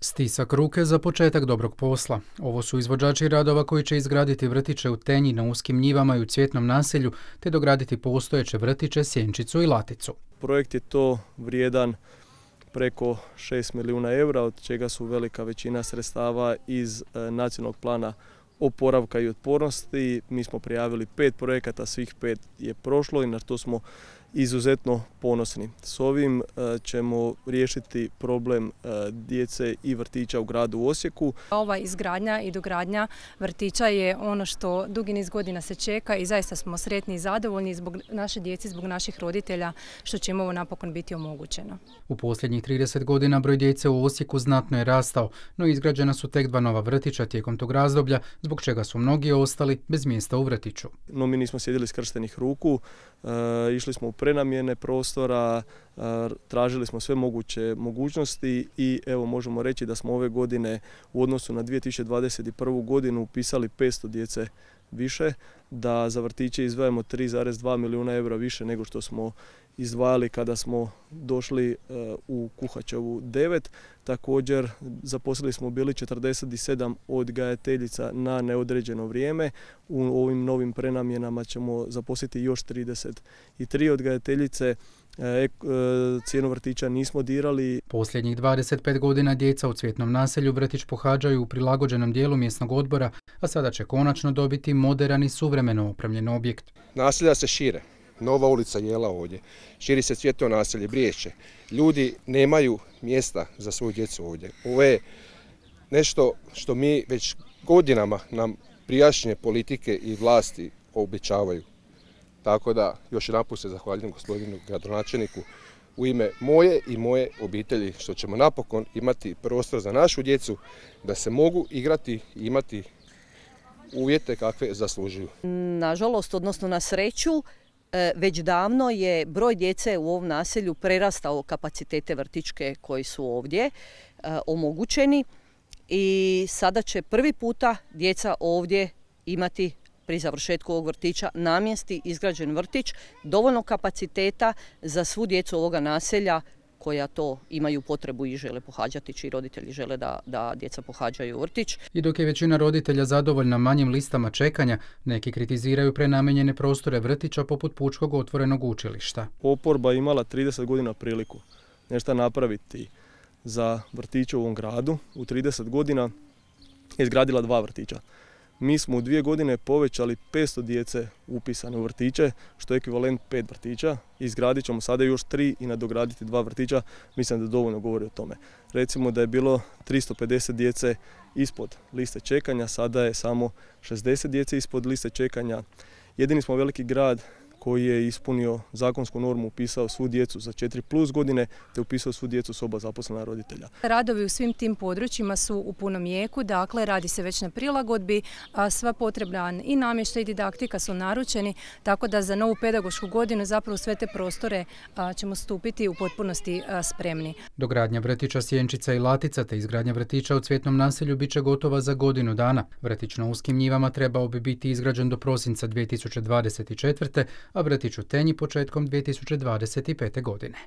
Stisak ruke za početak dobrog posla. Ovo su izvođači radova koji će izgraditi vrtiće u Tenji, na Uskim njivama i u Cvjetnom naselju, te dograditi postojeće vrtiće Sjenčicu i Laticu. Projekt je to vrijedan preko 6 milijuna eura, od čega su velika većina sredstava iz nacionalnog plana oporavka i otpornosti. Mi smo prijavili 5 projekata, svih 5 je prošlo i na to smo izuzetno ponosni. S ovim ćemo riješiti problem djece i vrtića u gradu Osijeku. Ova izgradnja i dogradnja vrtića je ono što dugi niz godina se čeka i zaista smo sretni i zadovoljni zbog naše djece, zbog naših roditelja što će im ovo napokon biti omogućeno. U posljednjih 30 godina broj djece u Osijeku znatno je rastao, no izgrađena su tek 2 nova vrtića tijekom tog razdoblja, zbog čega su mnogi ostali bez mjesta u vrtiću. No, mi nismo sjedili skrštenih ruku, išli smo u prenamjene prostora, tražili smo sve moguće mogućnosti i evo možemo reći da smo ove godine u odnosu na 2021. godinu upisali 500 djece više, da za vrtiće izdvajamo 3,2 milijuna eura više nego što smo izdvajali kada smo došli u Kuhačevu 9. Također zaposlili smo bili 47 odgajateljica na neodređeno vrijeme. U ovim novim prenamjenama ćemo zaposliti još 33 odgajateljice. Cijenu vrtića nismo dirali. Posljednjih 25 godina djeca u Cvjetnom naselju vrtić pohađaju u prilagođenom dijelu mjesnog odbora, a sada će konačno dobiti moderan i suvremeno opremljen objekt. Naselja se šire. Nova ulica Jela ovdje. Širi se Cvjetno naselje, Briješće. Ljudi nemaju mjesta za svoju djecu ovdje. Ovo je nešto što mi već godinama nam prijašnje politike i vlasti obećavaju. Tako da još jedanput se zahvaljujem gospodinu gradonačelniku u ime moje i moje obitelji što ćemo napokon imati prostor za našu djecu da se mogu igrati i imati uvjete kakve zaslužuju. Nažalost, odnosno na sreću, već davno je broj djece u ovom naselju prerastao kapacitete vrtićke koji su ovdje omogućeni i sada će prvi puta djeca ovdje imati pri završetku ovog vrtića namjenski izgrađen vrtić, dovoljno kapaciteta za svu djecu ovoga naselja koja to imaju potrebu i žele pohađati, čiji roditelji žele da djeca pohađaju vrtić. I dok je većina roditelja zadovoljna manjim listama čekanja, neki kritiziraju prenamijenjene prostore vrtića poput Pučkog otvorenog učilišta. Oporba je imala 30 godina priliku nešto napraviti za vrtiće u ovom gradu. U 30 godina je izgradila 2 vrtića. Mi smo u 2 godine povećali 500 djece upisane u vrtiće, što je ekvivalent 5 vrtića. Izgradit ćemo sada još 3 i nadograditi 2 vrtića. Mislim da dovoljno govori o tome. Recimo da je bilo 350 djece ispod liste čekanja, sada je samo 60 djece ispod liste čekanja. Jedini smo veliki grad koji je ispunio zakonsku normu, upisao svu djecu za 4+ godine, te upisao svu djecu s oba zaposlena roditelja. Radovi u svim tim područjima su u punom jeku, dakle radi se već na prilagodbi, a sva potrebna i namještaj i didaktika su naručeni, tako da za novu pedagošku godinu zapravo sve te prostore ćemo stupiti u potpunosti spremni. Dogradnja vrtića Sjenčica i Latica te izgradnja vrtića u Cvjetnom naselju bit će gotova za godinu dana. Vrtić na Uskim njivama trebao bi biti izgrađen do prosinca 2024. a vrtić u Tenji početkom 2025. godine.